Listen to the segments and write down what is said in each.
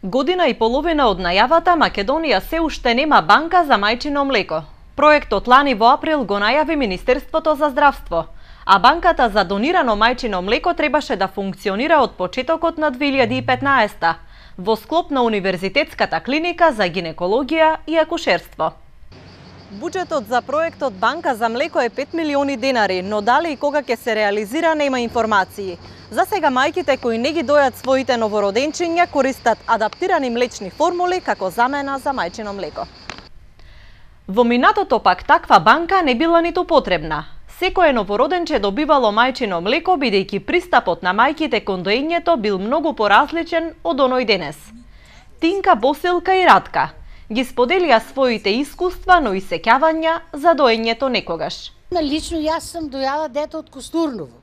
Година и половина од најавата, Македонија се уште нема банка за мајчино млеко. Проектот лани во април го најави Министерството за здравство, а банката за донирано мајчино млеко требаше да функционира од почетокот на 2015 во склоп на Универзитетската клиника за гинекологија и акушерство. Буџетот за проектот Банка за млеко е 5 милиони денари, но дали и кога ќе се реализира нема информации. За сега мајките кои не ги дојат своите новороденчиња користат адаптирани млечни формули како замена за мајчино млеко. Во минатото пак таква банка не била ниту потребна. Секое новороденче добивало мајчино млеко бидејќи пристапот на мајките кон доењето бил многу поразличен од оној денес. Тинка, Босилка и Радка ги споделија своите искуства, но и сеќавања за доењето некогаш. Лично јас сум дојала дете од Костурново.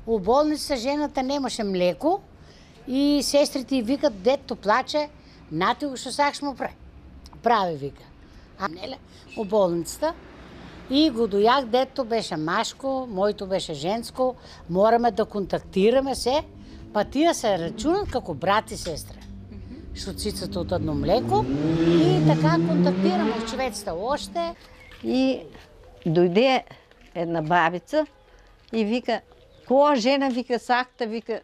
У болница жената немаше млеко и сестрите викат детето плаче, нати го што сакаш му прави вика. А неле у болницата и го дојах, детето беше машко, моето беше женско, мораме да контактираме се, па тие се рачунат како брат и сестра. Што цицата од едно млеко и така контактираме човеците оште. И дојде една бабица и вика, која жена вика сакта вика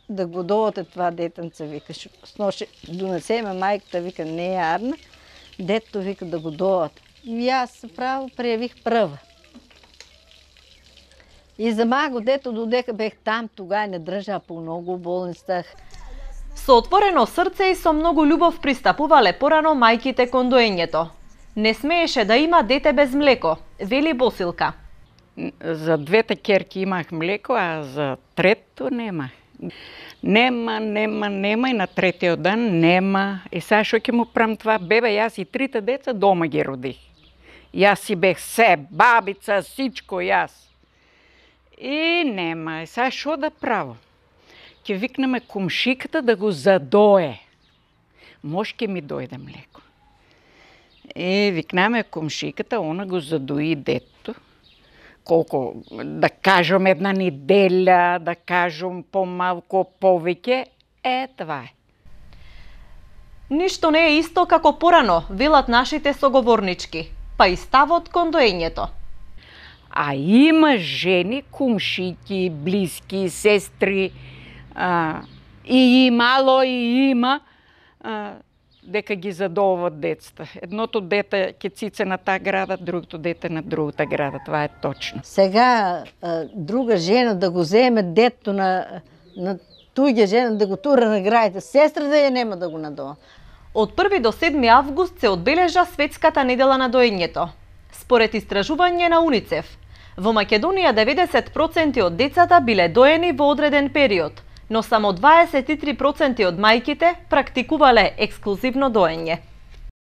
да го дооте това детенце вика, сноше донесеме мајката вика не е арна, детето вика да го дооте. И јас право прејавих прва. И за маго дето додека бех там, тогава не држа по многу болницах. Со отворено срце и со многу љубов пристапувале порано мајките кон доењето. Не смееше да има дете без млеко, вели Босилка. За двете ќерки имах млеко, а за трето немах. Нема и на третиот дан нема. И сега што ќе му правам това? Бебе, јас и трите деца дома ги родих. Јас си бех се, бабица, сичко јас. И нема. И сега што да правам? Ќе викнеме комшиката да го задое. Може ќе ми дојде млеко. И викнеме комшиката, она го задои детето. Колко, да кажем една неделя, да кажем помалку повеќе, това е. Ништо не е исто како порано, велат нашите соговорнички, па и ставот кон доењето. А има жени, кумшики, блиски, сестри, и имало, и има, дека ги задовуват детства. Едното дете ќе цице на таа града, другото дете на другата града. Това е точно. Сега друга жена да го земе детето на туѓа жена да го тура на граите, сестрата ја нема да го надоа. Од 1 до 7 август се одбележа Светската недела на доењето. Според истражување на УНИЦЕФ, во Македонија 90% од децата биле доени во одреден период, но само 23% од мајките практикувале ексклузивно доење.